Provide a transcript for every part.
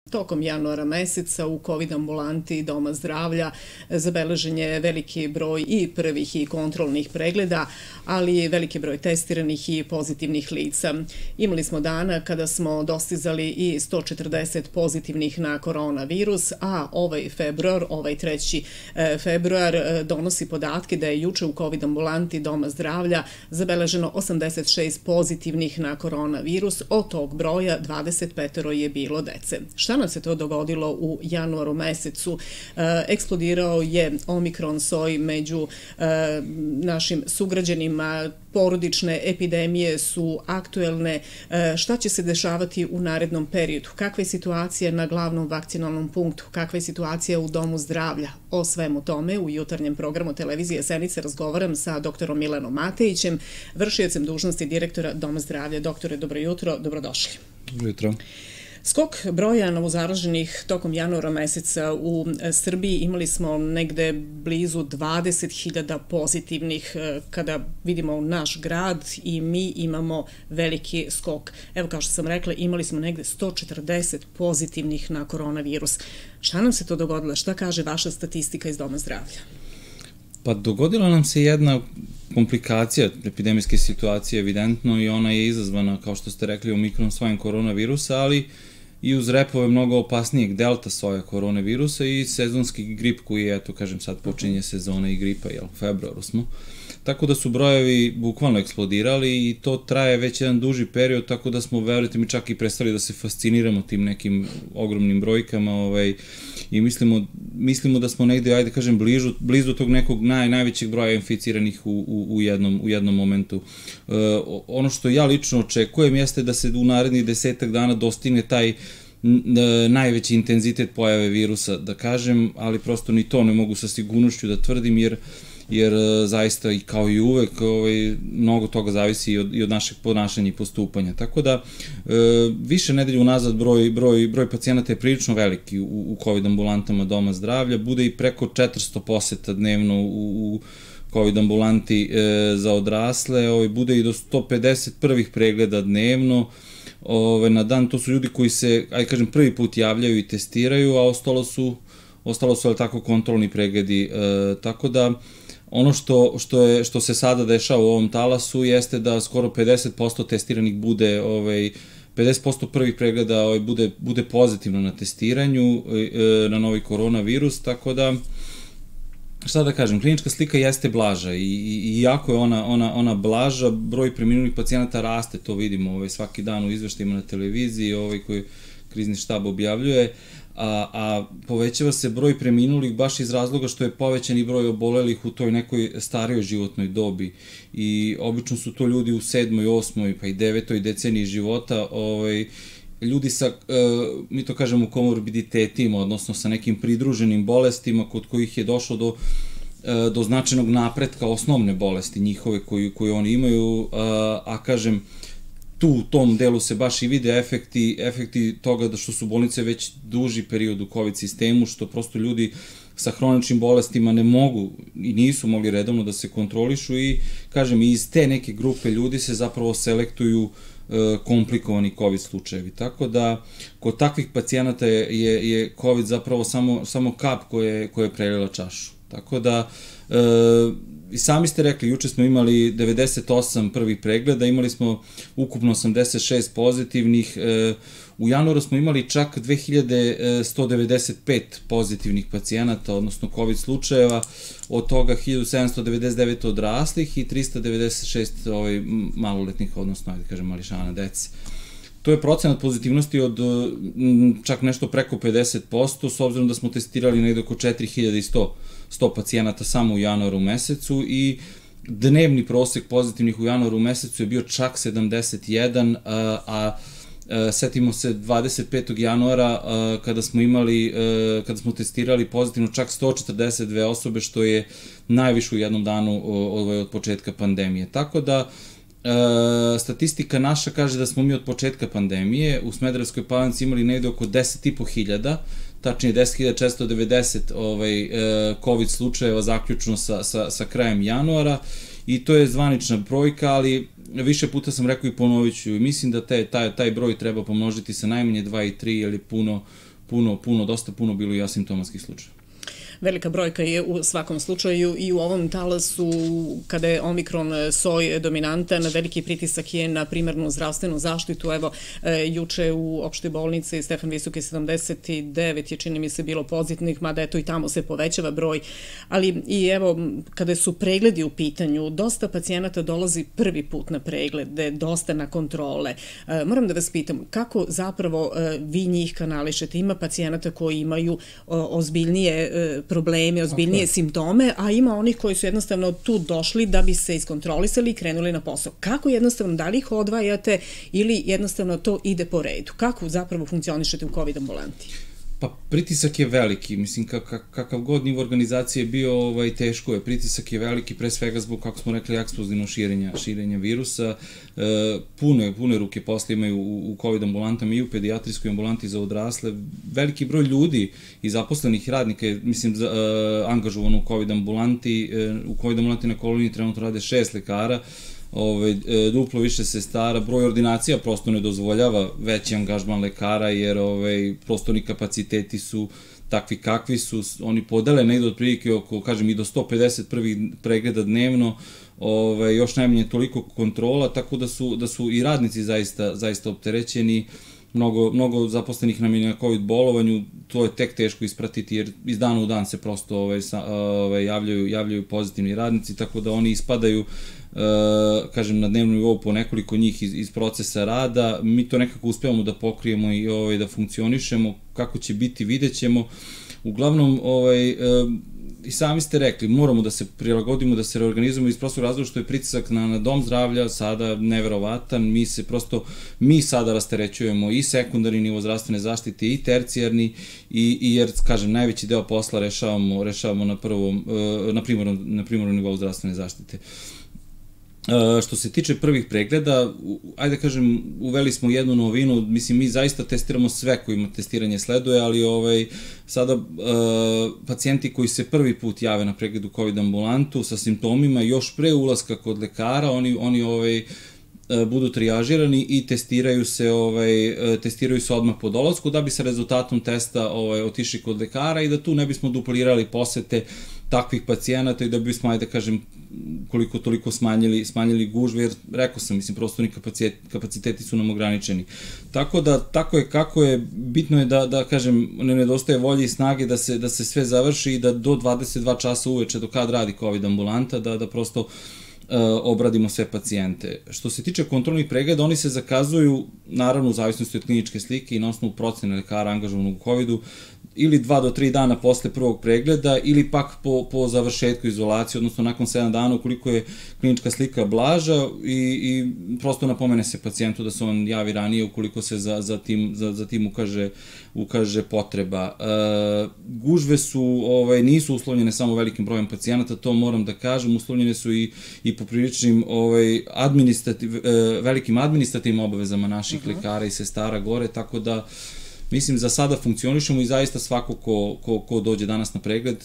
Tokom januara meseca u COVID ambulanti Doma zdravlja zabeležen je veliki broj i prvih i kontrolnih pregleda, ali i veliki broj testiranih i pozitivnih lica. Imali smo dana kada smo dostizali i 140 pozitivnih na koronavirus, a ovaj 3. februar donosi podatke da je juče u COVID ambulanti Doma zdravlja zabeleženo 86 pozitivnih na koronavirus, od tog broja 25 je bilo dece. Šta nam se to dogodilo u januaru mesecu? Eksplodirao je omikron soj među našim sugrađanima, porodične epidemije su aktuelne. Šta će se dešavati u narednom periodu? Kakva je situacija na glavnom vakcinalnom punktu? Kakva je situacija u Domu zdravlja? O svemu tome u jutarnjem programu televizije Senice razgovaram sa doktorom Milanom Matejićem, vršiocem dužnosti direktora Doma zdravlja. Doktore, dobro jutro, dobrodošli. Dobro jutro. Skok broja novozaraženih tokom januara meseca u Srbiji, imali smo negde blizu 20.000 pozitivnih. Kada vidimo naš grad i mi imamo veliki skok. Evo, kao što sam rekla, imali smo negde 140 pozitivnih na koronavirus. Šta nam se to dogodilo? Šta kaže vaša statistika iz Doma zdravlja? Pa dogodila nam se jedna komplikacija epidemijske situacije, evidentno, i ona je izazvana, kao što ste rekli, omikron sojem koronavirusa, ali i uz repove mnogo opasnijeg delta soja koronavirusa i sezonski grip koji je, eto kažem, sad počinje sezona i gripa, u februaru smo. Tako da su brojevi bukvalno eksplodirali i to traje već jedan duži period, tako da smo, verujte mi, čak i prestali da se fasciniramo tim nekim ogromnim brojkama i mislimo da smo negde, ajde kažem, blizu tog nekog najvećeg broja inficiranih u jednom momentu. Ono što ja lično očekujem jeste da se u narednih 10 dana dostigne taj najveći intenzitet pojave virusa, da kažem, ali prosto ni to ne mogu sa sigurnošću da tvrdim, jer zaista i kao i uvek mnogo toga zavisi i od našeg ponašanja i postupanja. Tako da više nedelju unazad broj pacijenata je prilično veliki u COVID ambulantama Doma zdravlja, bude i preko 400 poseta dnevno u COVID ambulanti za odrasle, bude i do 150 prvih pregleda dnevno na dan. To su ljudi koji se, ajde kažem, prvi put javljaju i testiraju, a ostalo su ali tako kontrolni pregledi, tako da ono što se sada dešava u ovom talasu jeste da skoro 50% testiranih bude, 50% prvih pregleda bude pozitivno na testiranju na novi koronavirus, tako da, šta da kažem, klinička slika jeste blaža i iako je ona blaža, broj preminulih pacijenata raste, to vidimo svaki dan u izveštajima na televiziji koji krizni štab objavljuje, a povećava se broj preminulih baš iz razloga što je povećan i broj obolelih u toj nekoj starijoj životnoj dobi i obično su to ljudi u 7., 8. pa i 9. deceniji života, ljudi sa, mi to kažemo, komorbiditetima, odnosno sa nekim pridruženim bolestima kod kojih je došlo do značajnog napretka osnovne bolesti njihove koju oni imaju, a kažem, tu u tom delu se baš i vide efekti toga da što su bolnice već duži period u COVID sistemu, što prosto ljudi sa hroničnim bolestima ne mogu i nisu mogli redovno da se kontrolišu i, kažem, iz te neke grupe ljudi se zapravo selektuju komplikovani COVID slučajevi. Tako da, kod takvih pacijenata je COVID zapravo samo kap koja je prelila čašu. Tako da, i sami ste rekli, juče smo imali 98 prvih pregleda, imali smo ukupno 86 pozitivnih, u januaru smo imali čak 2195 pozitivnih pacijenata, odnosno COVID slučajeva, od toga 1799 odraslih i 396 maloletnih, odnosno, ajde kažem, mališana dece. To je procenat pozitivnosti od čak nešto preko 50%, s obzirom da smo testirali negde oko 4100 pacijenata samo u januaru mesecu i dnevni prosek pozitivnih u januaru mesecu je bio čak 71, a setimo se 25. januara kada smo testirali pozitivno čak 142 osobe, što je najviše u jednom danu od početka pandemije. Tako da, statistika naša kaže da smo mi od početka pandemije u Smederevskoj Palanci imali negde oko 10.500, tačnije 10.490 COVID slučajeva zaključno sa krajem januara i to je zvanična brojka, ali više puta sam rekao i ponovit ću, mislim da taj broj treba pomnožiti sa najmanje 2 i 3, jer je dosta puno bilo i asimptomatskih slučaja. Velika brojka je u svakom slučaju i u ovom talasu kada je Omikron soj dominantan, veliki pritisak je na primarnu zdravstvenu zaštitu. Evo, juče u opštoj bolnici Stefan Visoki 79 je, čini mi se, bilo pozitivnih, mada eto i tamo se povećava broj. Ali i evo, kada su pregledi u pitanju, dosta pacijenata dolazi prvi put na preglede, dosta na kontrole. Moram da vas pitam, kako zapravo vi njih kanališete? Ima pacijenata koji imaju ozbiljnije probleme, ozbiljnije simptome, a ima onih koji su jednostavno tu došli da bi se iskontrolisali i krenuli na posao. Kako jednostavno, da li ih odvajate ili jednostavno to ide po redu? Kako zapravo funkcionišete u COVID ambulanti? Pa pritisak je veliki, mislim kakav god nivo organizacije bio, teško je, pritisak je veliki pre svega zbog, kako smo rekli, eksplozivnog širenja virusa, pune ruke posle imaju u COVID ambulantama i u pedijatrijskoj ambulanti za odrasle, veliki broj ljudi i zaposlenih radnika je, mislim, angažovano u COVID ambulanti na koloniji trenutno rade 6 lekara, duplo više sestara, broj ordinacija prosto ne dozvoljava veći angažman lekara jer prostorni kapaciteti su takvi kakvi su, oni podele negde otprilike oko, kažem, i do 150 prvih pregleda dnevno, još najmanje toliko kontrola, tako da su i radnici zaista opterećeni, mnogo zaposlenih nam je na COVID bolovanju, to je tek teško ispratiti jer iz dana u dan se prosto javljaju pozitivni radnici, tako da oni ispadaju, kažem, na dnevnom nivou po nekoliko njih iz procesa rada. Mi to nekako uspevamo da pokrijemo i da funkcionišemo. Kako će biti, vidjet ćemo. Uglavnom, i sami ste rekli, moramo da se prilagodimo, da se reorganizujemo iz prostog razloga što je pritisak na dom zdravlja sada neverovatan. Mi sada rasterećujemo i sekundarni nivo zdravstvene zaštite i tercijarni, jer, kažem, najveći deo posla rešavamo na primarnom nivou zdravstvene zaštite. Što se tiče prvih pregleda, ajde da kažem, uveli smo jednu novinu, mislim, mi zaista testiramo sve kojima testiranje sleduje, ali sada pacijenti koji se prvi put jave na pregledu COVID ambulantu sa simptomima, još pre ulaska kod lekara, oni budu trijažirani i testiraju se odmah po dolasku da bi sa rezultatom testa otišli kod lekara i da tu ne bismo duplirali posete takvih pacijenata i da bismo, ajde da kažem, koliko toliko smanjili gužve, jer rekao sam, mislim, prostorni kapaciteti su nam ograničeni. Tako da, tako je kako je, bitno je da kažem, ne nedostaje volje i snage da se sve završi i da do 22 časa uveče, do kad radi COVID ambulanta, da prosto obradimo sve pacijente. Što se tiče kontrolnih pregleda, oni se zakazuju, naravno, u zavisnosti od kliničke slike i na osnovu procene lekara angažovanog u COVID-u, ili 2 do 3 dana posle prvog pregleda, ili pak po završetku izolacije, odnosno nakon 7 dana, ukoliko je klinička slika blaža i prosto napomene se pacijentu da se on javi ranije ukoliko se za tim ukaže potreba. Gužve nisu uslovljene samo velikim brojem pacijenata, to moram da kažem, uslovljene su i po priličnim velikim administrativnim obavezama naših lekara i sestara gore, tako da mislim, za sada funkcionišemo i zaista svako ko dođe danas na pregled,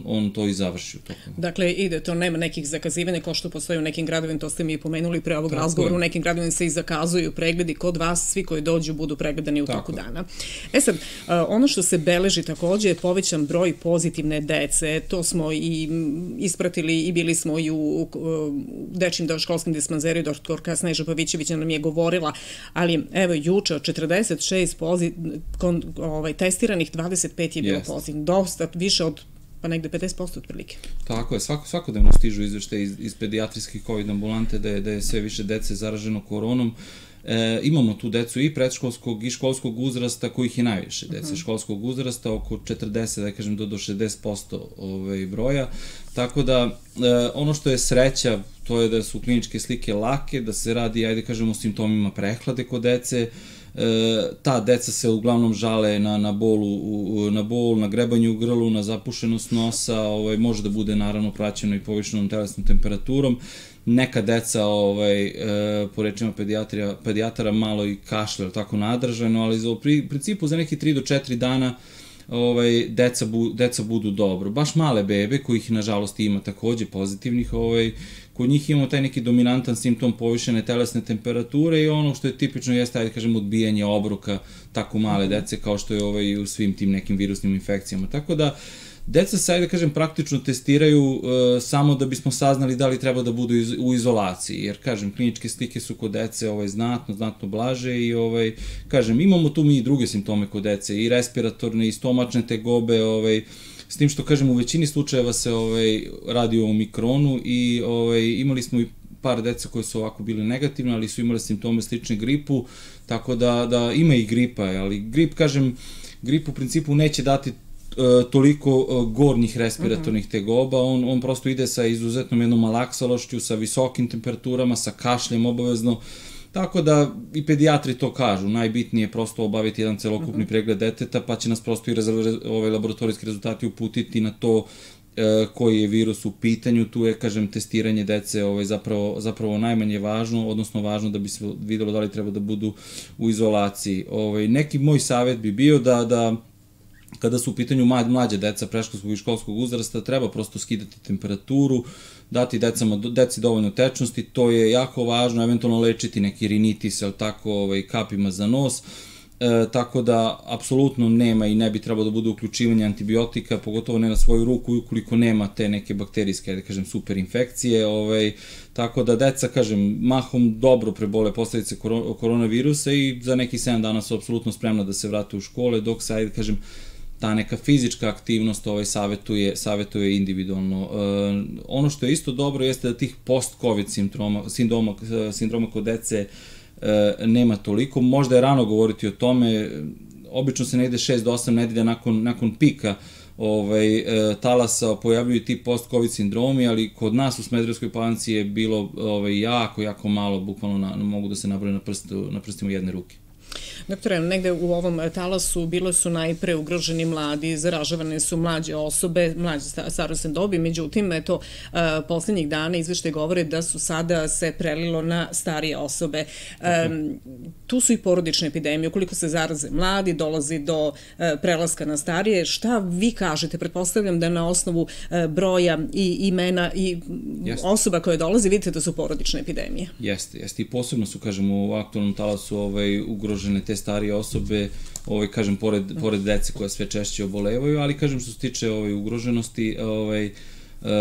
on to i završi. Dakle, ide to, nema nekih zakazivanja kao što postoji u nekim gradovima, to ste mi pomenuli pre ovog razgovora, u nekim gradovima se i zakazuju pregledi kod vas, svi koji dođu budu pregledani u toku dana. Sad, ono što se beleži takođe je povećan broj pozitivne dece, to smo i ispratili i bili smo i u dečjim školskim dispanzeriju, doktorka Sneža Pavićević nam je govorila, ali evo juče od 46 testiranih 25 je bilo pozitivno, dosta više od pa negde 50% otprilike. Tako je, svakodnevno stižu izveštaje iz pedijatrijskih COVID ambulante da je sve više dece zaraženo koronom. Imamo tu decu i predškolskog i školskog uzrasta, kojih je najviše dece školskog uzrasta, oko 40, da kažem, do 60% broja. Tako da, ono što je sreća, to je da su kliničke slike lake, da se radi, ajde kažem, o simptomima prehlade kod dece. Ta deca se uglavnom žale na bol, na grebanje u grlu, na zapušenost nosa, može da bude naravno praćeno i povišenom telesnom temperaturom. Neka deca, po rečima pedijatara, malo i kašlja, tako nadržano, ali u principu za neki 3 do 4 dana deca budu dobro. Baš male bebe, kojih nažalost ima takođe pozitivnih, kod njih imamo taj neki dominantan simptom povišene telesne temperature i ono što je tipično jeste, ajde kažem, odbijanje obroka tako male dece kao što je u svim tim nekim virusnim infekcijama. Tako da, deca se, ajde kažem, praktično testiraju samo da bismo saznali da li treba da budu u izolaciji, jer, kažem, kliničke slike su kod dece znatno blaže i, kažem, imamo tu mi i druge simptome kod dece, i respiratorne, i stomačne tegobe, s tim što, kažem, u većini slučajeva se radi o omikronu i imali smo i par deca koje su ovako bili negativne, ali su imali simptome slične gripu, tako da ima i gripa, ali grip u principu neće dati toliko gornjih respiratornih tegoba, on prosto ide sa izuzetnom jednom malaksalošću, sa visokim temperaturama, sa kašljem obavezno, tako da i pedijatri to kažu, najbitnije je prosto obaviti jedan celokupni pregled deteta, pa će nas prosto i laboratorijski rezultati uputiti na to koji je virus u pitanju. Tu je, kažem, testiranje dece zapravo najmanje važno, odnosno važno da bi se videlo da li treba da budu u izolaciji. Neki moj savjet bi bio da kada su u pitanju mlađe deca predškolskog i školskog uzrasta, treba prosto skidati temperaturu, dati deci dovoljno tečnosti, to je jako važno, eventualno lečiti neki rinitis, kapima za nos, tako da apsolutno nema i ne bi trebalo da bude uključivanje antibiotika, pogotovo ne na svoju ruku, ukoliko nema te neke bakterijske, da kažem, superinfekcije, tako da deca, kažem, mahom dobro prebole posledice koronavirusa i za neki 7 dana su apsolutno spremna da se vrate u škole, dok se, ajde kažem, ta neka fizička aktivnost savetuje individualno. Ono što je isto dobro jeste da tih post-covid sindroma kod dece nema toliko. Možda je rano govoriti o tome, obično se negde 6 do 8 nedelja nakon pika talasa pojavljuju ti post-covid sindromi, ali kod nas u Smederevskoj Palanci je bilo jako malo, bukvalno mogu da se nabroje na prstima jedne ruke. Doktore, negde u ovom talasu bile su najpre ugroženi mladi, zaražavane su mlađe osobe, mlađe starosne dobi, međutim, eto, poslednjih dana izveštaj govore da su sada se prelilo na starije osobe. Tu su i porodične epidemije, ukoliko se zaraze mladi, dolazi do prelaska na starije. Šta vi kažete? Pretpostavljam da na osnovu broja i imena i osoba koje dolazi, vidite da su porodične epidemije. Jeste. I posebno su, kažem, u aktualnom talasu ugrožene te starije osobe, kažem, pored dece koja sve češće obolevaju, ali, kažem, što se tiče ugroženosti,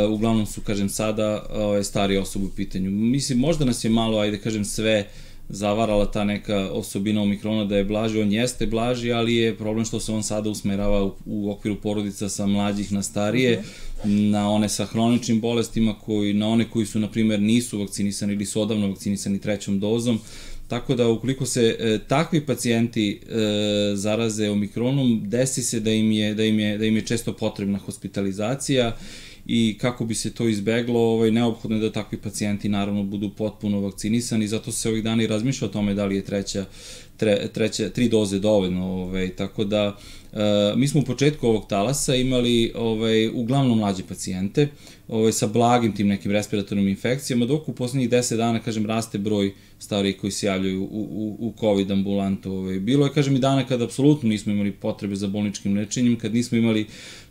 uglavnom su, kažem, sada starije osobe u pitanju. Mislim, možda nas je malo, ajde, kažem, sve zavarala ta neka osobina omikrona da je blaži, on jeste blaži, ali je problem što se on sada usmerava u okviru porodica sa mlađih na starije, na one sa hroničnim bolestima, na one koji su, na primjer, nisu vakcinisani ili su odavno vakcinisani 3. dozom. Tako da, ukoliko se takvi pacijenti zaraze omikronom, desi se da im je često potrebna hospitalizacija i kako bi se to izbeglo, neophodno je da takvi pacijenti naravno budu potpuno vakcinisani, zato se ovih dana i razmišlja o tome da li je 3 doze dovoljno, tako da mi smo u početku ovog talasa imali uglavnom mlađe pacijente sa blagim tim nekim respiratornim infekcijama, dok u poslednjih 10 dana, kažem, raste broj starijih koji se javljaju u COVID ambulantu. Bilo je, kažem, i dana kada apsolutno nismo imali potrebe za bolničkim lečenjem, kad nismo imali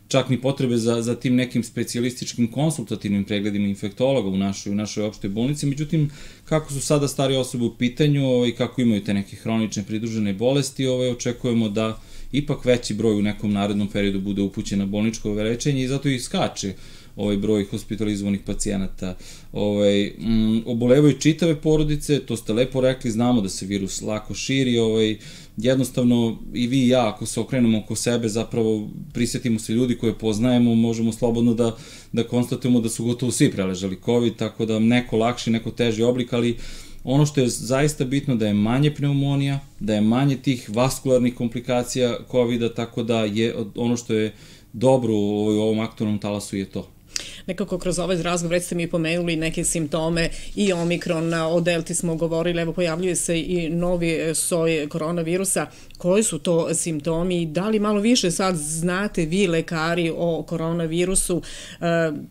čak ni potrebe za tim nekim specijalističkim konsultativnim pregledima infektologa u našoj opštoj bolnici. Međutim, kako su sada starije osobe u pitanju i kako imaju te neke hronične pridružene bolesti, očekujemo da ipak veći broj u nekom narednom periodu bude upućen na bolničko lečenje i zato i skače broj hospitalizovanih pacijenata. Obolevaju čitave porodice, to ste lepo rekli, znamo da se virus lako širi, jednostavno i vi i ja, ako se okrenemo oko sebe, zapravo prisjetimo se ljudi koje poznajemo, možemo slobodno da konstatujemo da su gotovo svi preležali COVID, tako da neko lakši, neko teži oblik, ali ono što je zaista bitno da je manje pneumonija, da je manje tih vaskularnih komplikacija COVID-a, tako da je ono što je dobro u ovom aktualnom talasu je to. nekako kroz ovaj razgovor, već ste mi pomenuli neke simptome i omikron, o delti smo govorili, evo pojavljuje se i novi soj koronavirusa. Koji su to simptomi i da li malo više sad znate vi lekari o koronavirusu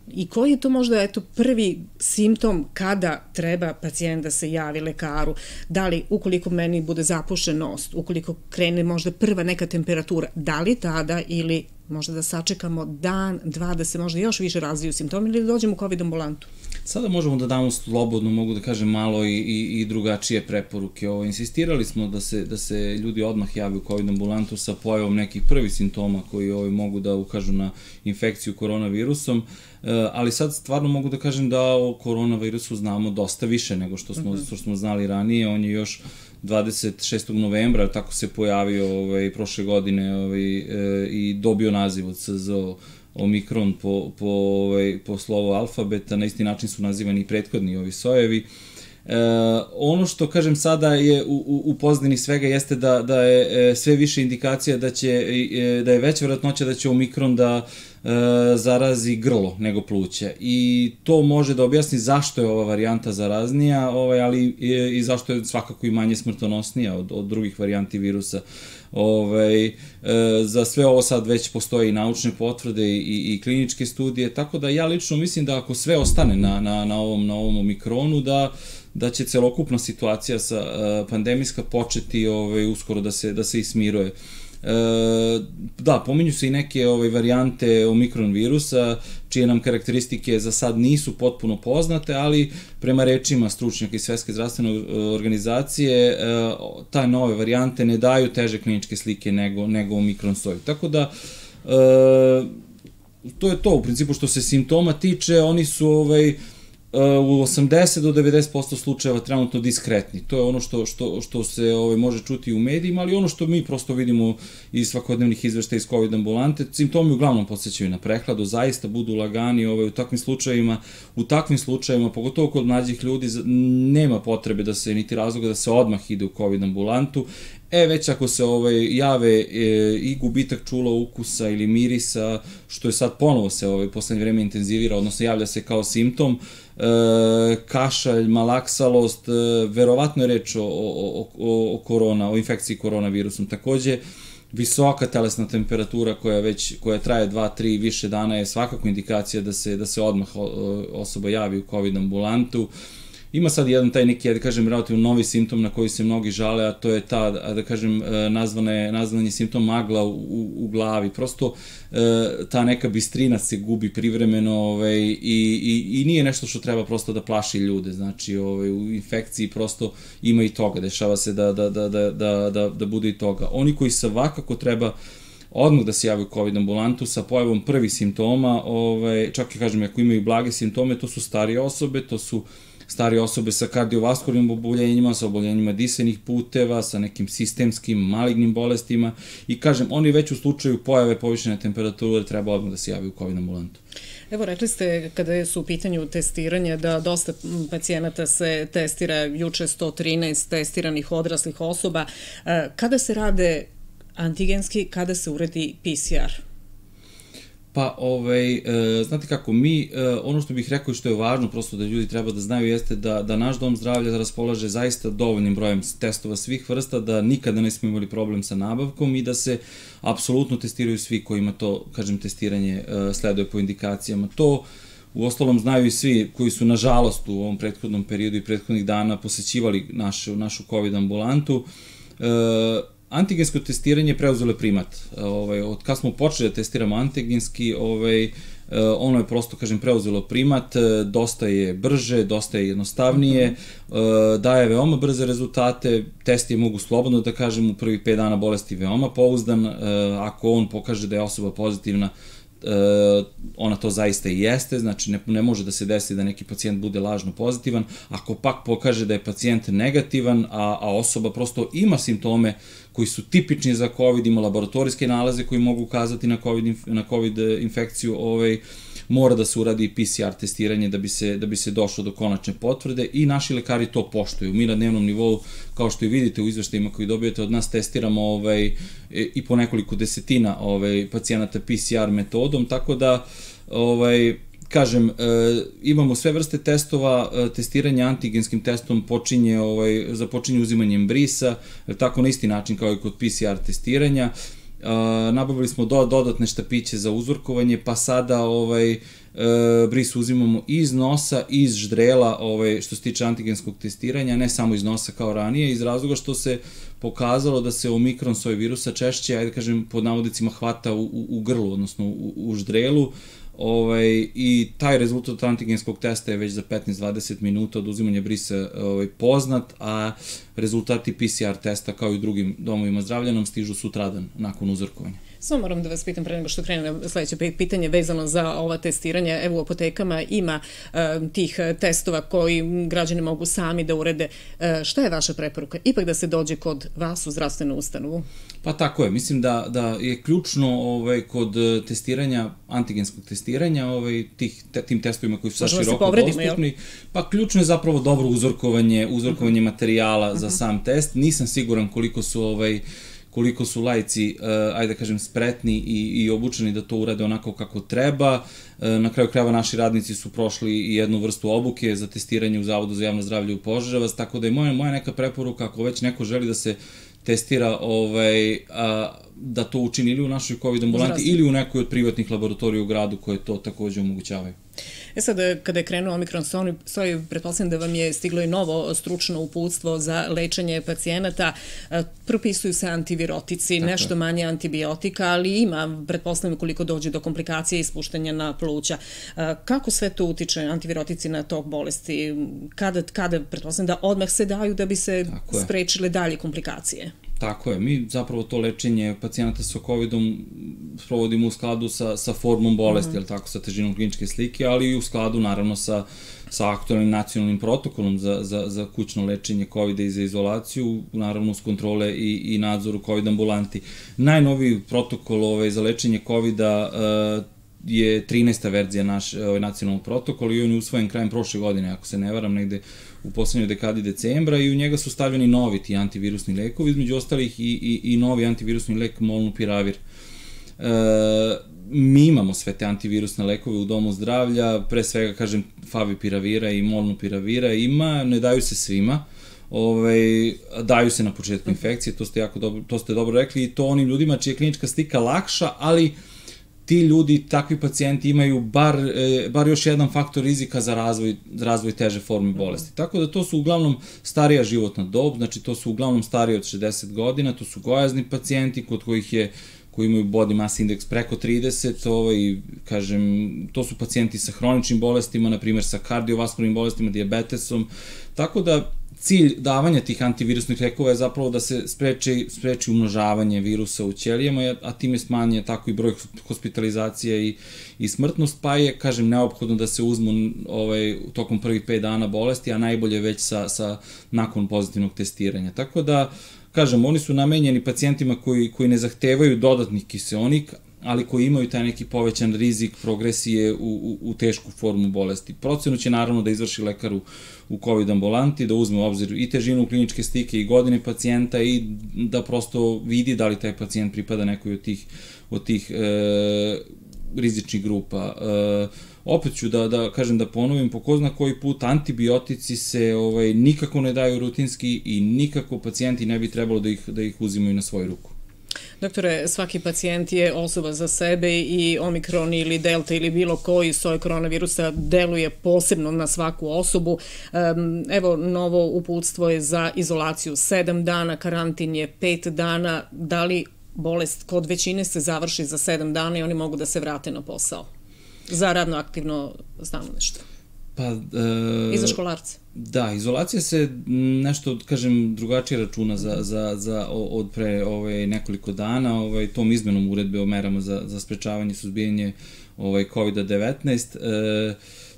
i koji je to možda prvi simptom kada treba pacijent da se javi lekaru? Da li ukoliko meni bude zapušen nos, ukoliko krene možda prva neka temperatura, da li tada ili možda da sačekamo dan, dva, da se možda još više razviju simptomi ili da dođemo u COVID ambulantu? Sada možemo da damo slobodno, mogu da kažem, malo i drugačije preporuke. Insistirali smo da se ljudi odmah jave u COVID ambulantu sa pojavom nekih prvih simptoma koji mogu da ukažu na infekciju koronavirusom, ali sad stvarno mogu da kažem da o koronavirusu znamo dosta više nego što smo znali ranije. On je još 26. novembra, tako se pojavio prošle godine i dobio naziv od SZO Omikron po slovu alfabeta. Na isti način su nazivani i prethodni ovi sojevi. Ono što kažem sada je u pozadini svega jeste da je sve više indikacija da je veća vjerojatnoća da će Omikron da zarazi grlo nego pluća i to može da objasni zašto je ova varijanta zaraznija, ali i zašto je svakako i manje smrtonosnija od drugih varijanti virusa. Za sve ovo sad već postoje i naučne potvrde i kliničke studije, tako da ja lično mislim da ako sve ostane na ovom Omikronu, da će celokupna situacija pandemijska početi uskoro da se ismiruje. Da, pominju se i neke varijante Omikron virusa, čije nam karakteristike za sad nisu potpuno poznate, ali prema rečima stručnjaka iz Svetske zdravstvene organizacije, ta nove varijante ne daju teže kliničke slike nego Omikron soj. Tako da, to je to, u principu što se simptoma tiče, oni su u 80 do 90% slučajeva trenutno diskretni. To je ono što se može čuti u medijima, ali ono što mi prosto vidimo iz svakodnevnih izveštaja iz COVID ambulante, simptomi uglavnom podsjećaju na prehladu, zaista budu lagani u takvim slučajevima, pogotovo kod mlađih ljudi, nema potrebe niti razloga da se odmah ide u COVID ambulantu. Već ako se jave i gubitak čula, ukusa ili mirisa, što je sad ponovo se poslednje vreme intenzivira, odnosno javlja se kao simptom, kašalj, malaksalost, verovatno je reč o infekciji koronavirusom. Takođe, visoka telesna temperatura koja traje 2-3 više dana je svakako indikacija da se odmah osoba javi u COVID ambulantu. Ima sad jedan taj neki, da kažem, relativno novi simptom na koji se mnogi žale, a to je ta, da kažem, nazvan je simptom magla u glavi. Prosto ta neka bistrina se gubi privremeno i nije nešto što treba prosto da plaši ljude. Znači, u infekciji prosto ima i toga, dešava se da bude i toga. Oni koji svakako treba odmah da se javi u COVID ambulantu sa pojavom prvih simptoma, čak i kažem, ako imaju blage simptome, to su starije osobe, to su starije osobe sa kardiovaskularnim oboljenjima, sa oboljenjima disajnih puteva, sa nekim sistemskim, malignim bolestima i kažem, oni već u slučaju pojave povišene temperature treba odmah da se javi u COVID ambulantu. Evo, rekli ste kada su u pitanju testiranja da dosta pacijenata se testira, juče 113 testiranih odraslih osoba. Kada se rade antigenski, kada se uradi PCR? Pa, znate kako, ono što bih rekao i što je važno prosto da ljudi treba da znaju jeste da naš dom zdravlja raspolaže zaista dovoljnim brojem testova svih vrsta, da nikada nismo imali problem sa nabavkom i da se apsolutno testiraju svi kojima to, kažem, testiranje sleduje po indikacijama. To u ostalom znaju i svi koji su, nažalost, u ovom prethodnom periodu i prethodnih dana posećivali našu COVID ambulantu. Antigensko testiranje preuzelo je primat. Od kad smo počeli da testiramo antigenski, ono je prosto, kažem, preuzelo primat, dosta je brže, dosta je jednostavnije, daje veoma brze rezultate, test je, mogu slobodno da kažem, u prvih 5 dana bolesti veoma pouzdan, ako on pokaže da je osoba pozitivna, ona to zaista i jeste, znači ne može da se desi da neki pacijent bude lažno pozitivan. Ako pak pokaže da je pacijent negativan, a osoba prosto ima simptome koji su tipični za COVID, ima laboratorijske nalaze koji mogu ukazati na COVID infekciju, mora da se uradi PCR testiranje da bi se došlo do konačne potvrde i naši lekari to poštuju. Mi na dnevnom nivou, kao što i vidite u izveštajima koji dobijete od nas, testiramo i po nekoliko desetina pacijenata PCR metodom, tako da kažem, imamo sve vrste testova, testiranje antigenskim testom započinje uzimanjem brisa, tako na isti način kao i kod PCR testiranja. Nabavili smo dodatne štapiće za uzorkovanje, pa sada bris uzimamo iz nosa, iz ždrela, što se tiče antigenskog testiranja, ne samo iz nosa kao ranije, iz razloga što se pokazalo da se omikron soj virusa češće, ajde kažem, pod navodicima hvata u grlu, odnosno u ždrelu, i taj rezultat antigenskog testa je već za 15-20 minuta od uzimanja brisa poznat, a rezultati PCR testa kao i u drugim domovima zdravlja nam stižu sutradan nakon uzorkovanja. Samo moram da vas pitam pre nego što krene na sledeće pitanje vezano za ova testiranja. Evo u apotekama ima tih testova koji građani mogu sami da urede. Šta je vaša preporuka? Ipak da se dođe kod vas u zdravstvenu ustanovu? Pa tako je. Mislim da je ključno kod testiranja, antigenskog testiranja, tim testovima koji su sad široko dostupni, pa ključno je zapravo dobro uzorkovanje materijala za sam test. Nisam siguran koliko su laici, ajde da kažem, spretni i obučeni da to urade onako kako treba. Na kraju krajeva naši radnici su prošli i jednu vrstu obuke za testiranje u Zavodu za javno zdravlje u Požarevac, tako da je moja neka preporuka, ako već neko želi da se testira, da to učini ili u našoj COVID ambulanti ili u nekoj od privatnih laboratorija u gradu koje to takođe omogućavaju. Sad, kada je krenuo omikron soj, pretpostavljam da vam je stiglo i novo stručno uputstvo za lečenje pacijenata. Propisuju se antivirotici, nešto manje antibiotika, ali ima, pretpostavljam, koliko dođe do komplikacije i ispuštanja na pluća. Kako sve to utiče, antivirotici, na tok bolesti? Kada, pretpostavljam, da odmah se daju da bi se sprečile dalje komplikacije? Tako je, mi zapravo to lečenje pacijenata sa COVID-om sprovodimo u skladu sa formom bolesti, sa težinom kliničke slike, ali i u skladu naravno sa aktualnim nacionalnim protokolom za kućno lečenje COVID-a i za izolaciju, naravno uz kontrole i nadzoru COVID ambulanti. Najnoviji protokol za lečenje COVID-a je 13. verzija nacionalnog protokola i on je usvojen krajem prošle godine, ako se ne varam, negde u poslednjoj dekadi decembra, i u njega su stavljeni novi ti antivirusni lekovi, između ostalih i novi antivirusni lek molnupiravir. Mi imamo sve te antivirusne lekove u domu zdravlja, pre svega, kažem, favipiravira i molnupiravira ima, ne daju se svima, daju se na početku infekcije, to ste dobro rekli, i to onim ljudima čija je klinička slika lakša, ali ti ljudi, takvi pacijenti imaju bar još jedan faktor rizika za razvoj teže forme bolesti. Tako da to su uglavnom starija životna dob, znači to su uglavnom stariji od 60 godina, to su gojazni pacijenti koji imaju body mass index preko 30, kažem, to su pacijenti sa hroničnim bolestima, na primjer sa kardiovaskularnim bolestima, dijabetesom, tako da cilj davanja tih antivirusnih lekova je zapravo da se spreči umnožavanje virusa u ćelijama, a time smanje tako i broj hospitalizacija i smrtnost, pa je, kažem, neophodno da se uzmu tokom prvih 5 dana bolesti, a najbolje već nakon pozitivnog testiranja. Tako da, kažem, oni su namenjeni pacijentima koji ne zahtevaju dodatnih kiseonik, ali koji imaju taj neki povećan rizik progresije u tešku formu bolesti. Procenu će naravno da izvrši lekar u COVID ambulanti, da uzme u obzir i težinu kliničke slike i godine pacijenta i da prosto vidi da li taj pacijent pripada nekoj od tih rizičnih grupa. Opet ću da kažem, da ponovim po ko zna koji put, antibiotici se nikako ne daju rutinski i nikako pacijenti ne bi trebalo da ih uzimaju na svoju ruku. Doktore, svaki pacijent je osoba za sebe i omikron ili delta ili bilo koji soj koronavirusa deluje posebno na svaku osobu. Evo, novo uputstvo je za izolaciju 7 dana, karantin je 5 dana. Da li bolest kod većine se završi za 7 dana i oni mogu da se vrate na posao za radno aktivno stanovništvo? I za školarce? Da, izolacija se nešto, kažem, drugačije računa od pre nekoliko dana, tom izmenom uredbe o merama za sprečavanje i suzbijanje COVID-19,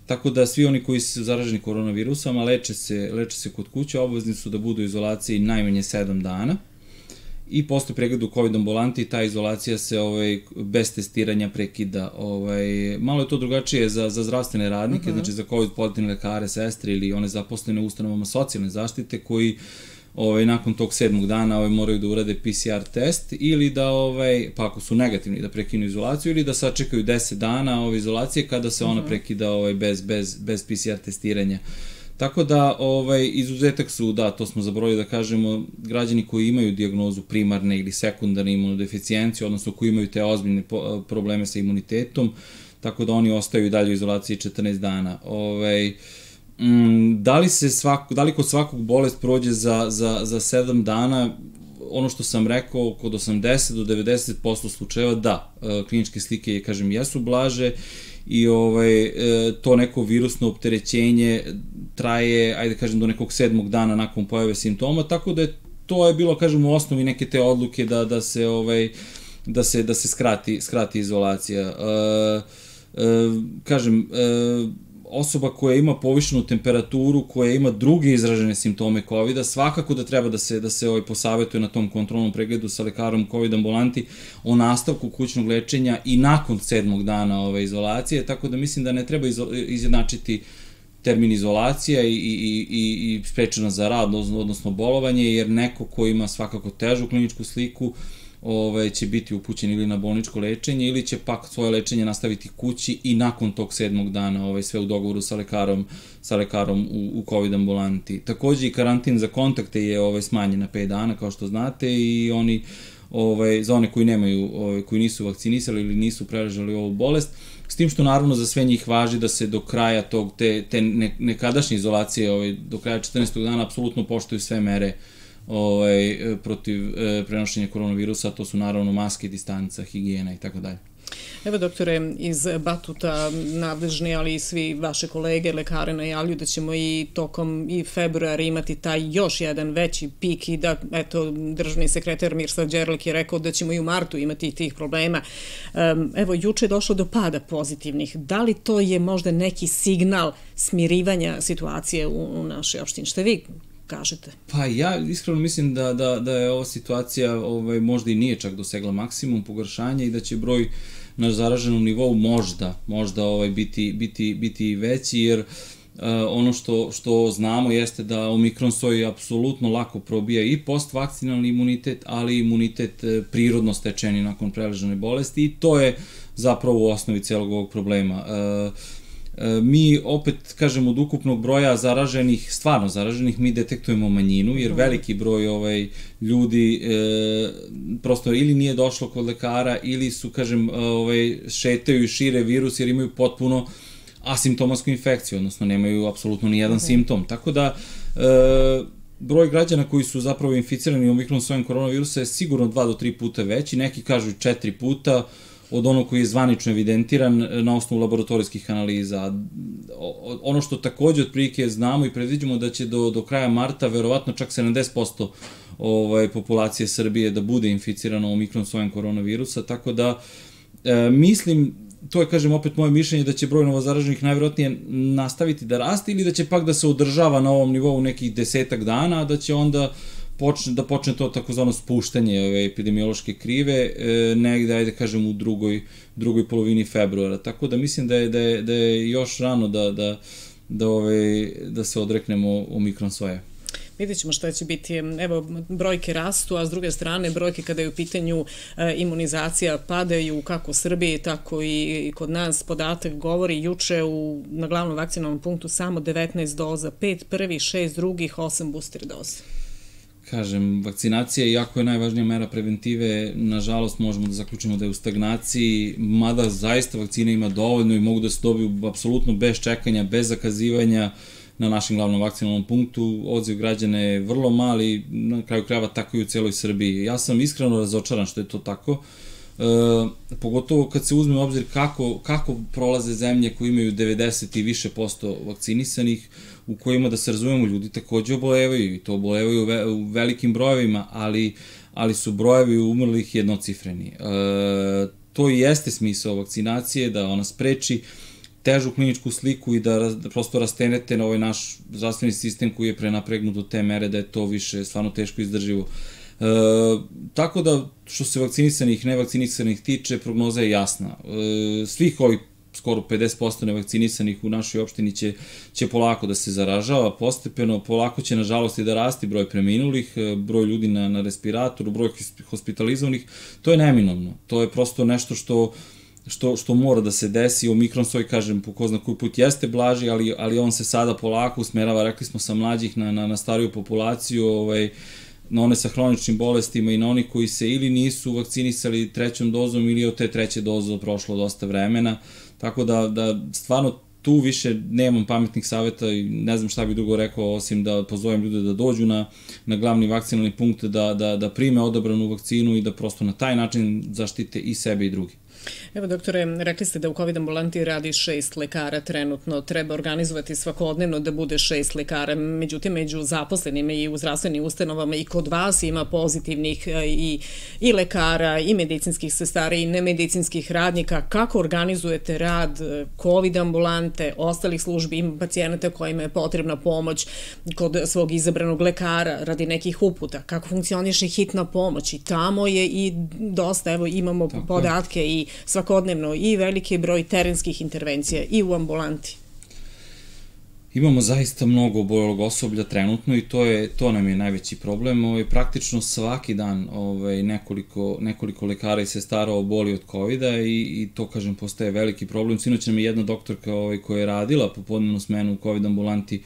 tako da svi oni koji su zaraženi koronavirusom, a leče se kod kuće, obavezni su da budu u izolaciji najmanje 7 dana. I posle pregleda u COVID ambulanti ta izolacija se bez testiranja prekida. Malo je to drugačije za zdravstvene radnike, znači za COVID pozitivne lekare, sestre ili one zaposlene u ustanovama socijalne zaštite koji nakon tog 7. dana moraju da urade PCR test ili da, pa ako su negativni, da prekinu izolaciju ili da sačekaju 10 dana izolacije kada se ona prekida bez PCR testiranja. Tako da, izuzetak su, da, to smo zaboravili da kažemo, građani koji imaju dijagnozu primarne ili sekundarne imunodeficijencije, odnosno koji imaju te ozbiljne probleme sa imunitetom, tako da oni ostaju i dalje u izolaciji 14 dana. Da li kod svakog bolest prođe za 7 dana, ono što sam rekao, kod 80 do 90% slučajeva, da, kliničke slike, kažem, jesu blaže i to neko virusno opterećenje traje, ajde kažem, do nekog 7. dana nakon pojave simptoma, tako da to je bilo, kažem, u osnovi neke te odluke da se skrati izolacija. Kažem, osoba koja ima povišenu temperaturu, koja ima druge izražene simptome COVID-a, svakako da treba da se posavetuje na tom kontrolnom pregledu sa lekarom COVID ambulanti o nastavku kućnog lečenja i nakon 7. dana izolacije, tako da mislim da ne treba izjednačiti termin izolacija i sprečena za rad, odnosno bolovanje, jer neko ko ima svakako težu kliničku sliku će biti upućen ili na bolničko lečenje ili će pak svoje lečenje nastaviti kući i nakon tog 7. dana sve u dogovoru sa lekarom u COVID ambulanti. Takođe i karantin za kontakte je smanjen na 5 dana, kao što znate, i oni za one koji nisu vakcinisali ili nisu preležali ovu bolest, s tim što naravno za sve njih važi da se do kraja te nekadašnje izolacije, do kraja 14. dana apsolutno poštuju sve mere protiv prenošenja koronavirusa, to su naravno maske, distanca, higijena i tako dalje. Evo, doktore, iz Batuta nadležni, ali i svi vaše kolege, lekare najavljuju da ćemo i tokom februara imati taj još jedan veći pik i da, eto, državni sekretar Mirsad Đerlek je rekao da ćemo i u martu imati tih problema. Evo, juče je došlo do pada pozitivnih. Da li to je možda neki signal smirivanja situacije u našoj opštini? Šta vi kažete? Pa ja iskreno mislim da je ova situacija možda i nije čak dosegla maksimum pogoršanja i da će broj na zaraženom nivou možda biti veći, jer ono što znamo jeste da omikron soj apsolutno lako probija i postvakcinalni imunitet, ali i imunitet prirodno stečeni nakon preležane bolesti i to je zapravo u osnovi celog ovog problema. Mi opet, kažem, od ukupnog broja zaraženih, stvarno zaraženih, mi detektujemo manjinu, jer veliki broj ljudi prosto ili nije došlo kod lekara ili su, kažem, šetaju i šire virus jer imaju potpuno asimptomatsku infekciju, odnosno nemaju apsolutno ni jedan simptom. Tako da broj građana koji su zapravo inficirani omikron sojem koronavirusa je sigurno 2 do 3 puta veći, neki kažu 4 puta, od onog koji je zvanično evidentiran na osnovu laboratorijskih analiza. Ono što takođe otprilike znamo i predviđamo da će do kraja marta verovatno čak 70% populacije Srbije da bude inficirano omikron sojem koronavirusa, tako da mislim, to je, kažem, opet moje mišljenje da će broj novozaraženih najverovatnije nastaviti da raste ili da će pak da se održava na ovom nivou nekih 10 dana, a da će onda da počne to takozvano spuštanje epidemiološke krive negde, ajde kažem, u drugoj polovini februara. Tako da mislim da je još rano da se odreknemo omikron soje. Vidjet ćemo šta će biti. Evo, brojke rastu, a s druge strane brojke kada je u pitanju imunizacija padaju kako u Srbiji, tako i kod nas. Podatak govori juče na glavnom vakcinalnom punktu samo 19 doza, 5 prvih, 6 drugih, 8 booster doza. Kažem, vakcinacija, iako je najvažnija mera preventive, nažalost možemo da zaključimo da je u stagnaciji, mada zaista vakcina ima dovoljno i mogu da se dobiju apsolutno bez čekanja, bez zakazivanja na našem glavnom vakcinalnom punktu. Odziv građana je vrlo mali, na kraju krajeva tako i u celoj Srbiji. Ja sam iskreno razočaran što je to tako, pogotovo kad se uzme u obzir kako prolaze zemlje koje imaju 90 i više posto vakcinisanih, u kojima, da se razumemo, ljudi takođe obolevaju i to obolevaju u velikim brojevima, ali su brojevi umrlih jednocifreni. To i jeste smisao vakcinacije, da ona spreči težu kliničku sliku i da prosto rastenete na ovaj naš zdravstveni sistem koji je prenapregnut do te mere da je to više stvarno teško izdrživo. Tako da, što se vakcinisanih i nevakcinisanih tiče, prognoza je jasna. Svih ovih skoro 50% nevakcinisanih u našoj opštini će polako da se zaražava, postepeno, polako će nažalost i da rasti broj preminulih, broj ljudi na respiratoru, broj hospitalizovanih, to je neminovno, to je prosto nešto što mora da se desi. Omikron svoj, kažem, po ko zna koji put jeste blaži, ali on se sada polako usmerava, rekli smo, sa mlađih na stariju populaciju, na one sa hroničnim bolestima i na oni koji se ili nisu vakcinisali trećom dozom ili od te treće doze prošlo dosta vremena, tako da stvarno tu više nemam pametnih saveta i ne znam šta bih drugo rekao osim da pozovem ljude da dođu na glavni vakcinalni punkt, da prime odabranu vakcinu i da prosto na taj način zaštite i sebe i drugi. Evo, doktore, rekli ste da u COVID ambulanti radi 6 lekara trenutno. Treba organizovati svakodnevno da bude 6 lekara. Međutim, među zaposlenima i u zdravstvenim ustanovama i kod vas ima pozitivnih i lekara, i medicinskih sestara, i nemedicinskih radnika. Kako organizujete rad COVID ambulante, ostalih službi, ima pacijenata kojima je potrebna pomoć kod svog izabranog lekara radi nekih uputa? Kako funkcioniše hitna pomoć? I tamo je i dosta, evo, imamo podatke i svakodnevno i veliki broj terenskih intervencija i u ambulanti. Imamo zaista mnogo obolelog osoblja trenutno i to nam je najveći problem. Praktično svaki dan nekoliko lekara i sestara oboli od COVID-a i to, kažem, postaje veliki problem. Sinoć nam je jedna doktorka koja je radila popodnevnu smenu u COVID ambulanti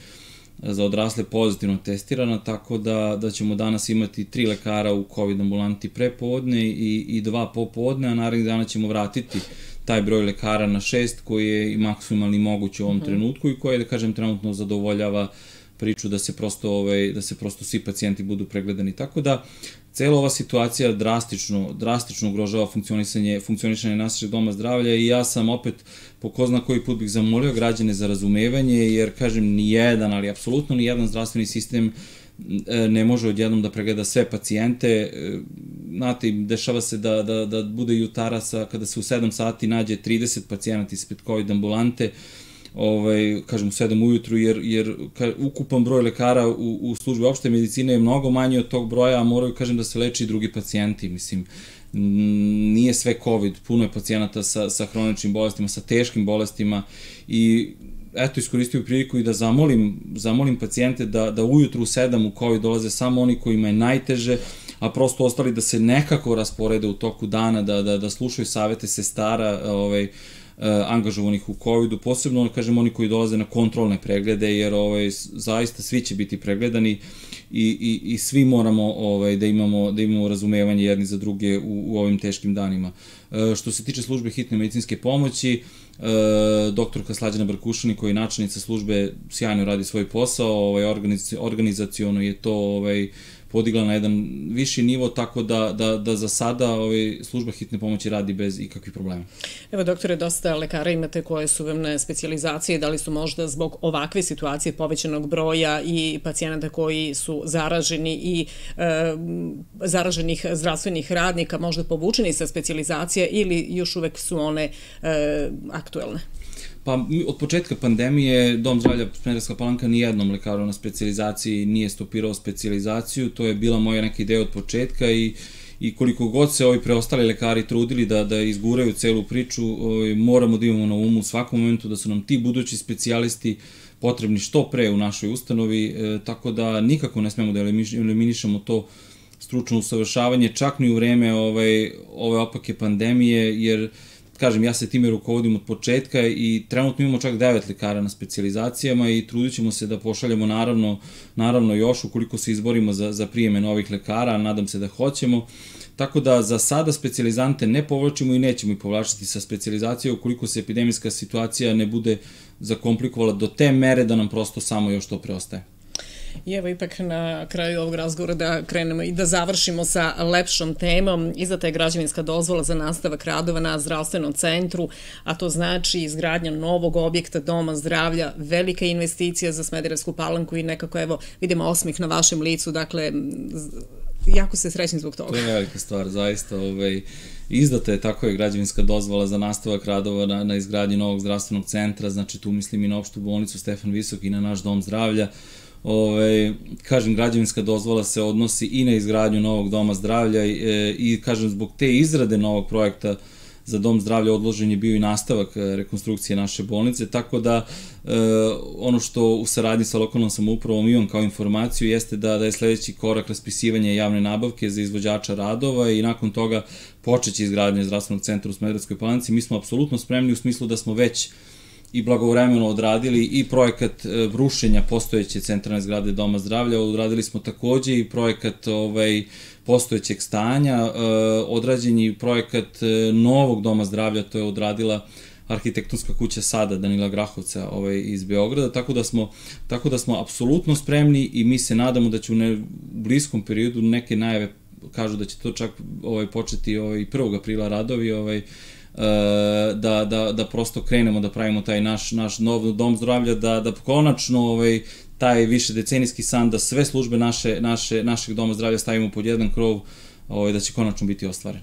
za odrasle pozitivno testirana, tako da ćemo danas imati 3 lekara u COVID ambulanti prepodne i 2 popodne, a narednih dana ćemo vratiti taj broj lekara na 6 koji je i maksimalni moguć u ovom trenutku i koji, da kažem, trenutno zadovoljava priču da se prosto svi pacijenti budu pregledani. Tako da cela ova situacija drastično ugrožava funkcionisanje našeg doma zdravlja i ja sam opet po ko zna koji put bih zamolio građane za razumevanje, jer, kažem, nijedan, ali apsolutno nijedan zdravstveni sistem ne može odjednom da pregleda sve pacijente. Znate, dešava se da bude jutara kada se u 7 sati nađe 30 pacijenata ispred COVID ambulante, kažem u 7 ujutru, jer ukupan broj lekara u službi opšte medicine je mnogo manji od tog broja, a moraju, kažem, da se leči i drugi pacijenti. Mislim, nije sve COVID, puno je pacijenata sa hroničnim bolestima, sa teškim bolestima i eto, iskoristio priliku i da zamolim pacijente da ujutru u 7 u COVID dolaze samo oni kojima je najteže, a prosto ostali da se nekako rasporede u toku dana, da slušaju savete sestara, angažovanih u COVID-u, posebno, kažem, oni koji dolaze na kontrolne preglede, jer zaista svi će biti pregledani i svi moramo da imamo razumevanje jedni za druge u ovim teškim danima. Što se tiče službe hitne medicinske pomoći, doktorka Slađana Brkušani, koja je načelnica službe, sjajno radi svoj posao, organizaciono je to podigla na jedan viši nivo, tako da za sada služba hitne pomoći radi bez ikakvih problema. Evo, doktore, dosta lekara imate koje su vam na specijalizaciji, da li su možda zbog ovakve situacije povećanog broja i pacijenata koji su zaraženi i zaraženih zdravstvenih radnika možda povučeni sa specijalizacije ili još uvek su one aktuelne? Pa, od početka pandemije Dom zdravlja Smederevska Palanka nijednom lekaru na specijalizaciji nije stopirao specijalizaciju, to je bila moja neka ideja od početka i koliko god se ovi preostali lekari trudili da izguraju celu priču, moramo da imamo na umu u svakom momentu da su nam ti budući specijalisti potrebni što pre u našoj ustanovi, tako da nikako ne smemo da eliminišemo to stručno usavršavanje, čak ni u vreme ove opake pandemije, jer, kažem, ja se time rukovodim od početka i trenutno imamo čak 9 lekara na specijalizacijama i trudit ćemo se da pošaljemo naravno još ukoliko se izborimo za prijeme novih lekara, nadam se da hoćemo. Tako da za sada specijalizante ne povlačimo i nećemo ih povlačiti sa specijalizacije ukoliko se epidemijska situacija ne bude zakomplikovala do te mere da nam prosto samo još to preostaje. I evo, ipak na kraju ovog razgovora da krenemo i da završimo sa lepšom temom. Izdata je građevinska dozvola za nastavak radova na zdravstvenom centru, a to znači izgradnja novog objekta Doma zdravlja, velika investicija za Smederevsku Palanku i nekako, evo, vidimo osmeh na vašem licu, dakle, jako se srećni zbog toga. To je velika stvar, zaista. Izdata je, tako je, građevinska dozvola za nastavak radova na izgradnji novog zdravstvenog centra, znači tu mislim i na opštu bolnicu Stefan Visok i na naš Dom zdravlja. Kažem, građevinska dozvola se odnosi i na izgradnju novog doma zdravlja i kažem, zbog te izrade novog projekta za dom zdravlja odložen je bio i nastavak rekonstrukcije naše bolnice, tako da ono što u saradnji sa lokalnom samoupravom imam kao informaciju jeste da je sledeći korak raspisivanje javne nabavke za izvođača radova i nakon toga počeće izgradnje zdravstvenog centra u Smederevskoj Palanci. Mi smo apsolutno spremni u smislu da smo već i blagovremeno odradili i projekat rušenja postojeće centralne zgrade Doma zdravlja, odradili smo takođe i projekat postojećeg stanja, odrađen je i projekat novog Doma zdravlja, to je odradila arhitektonska kuća Sada Danila Grahovca iz Beograda, tako da smo apsolutno spremni i mi se nadamo da će u bliskom periodu, neke najave kažu da će to čak početi 1. aprila radovi, da prosto krenemo da pravimo taj naš nov dom zdravlja, da konačno taj višedecenijski san da sve službe našeg doma zdravlja stavimo pod jedan krov, da će konačno biti ostvaren.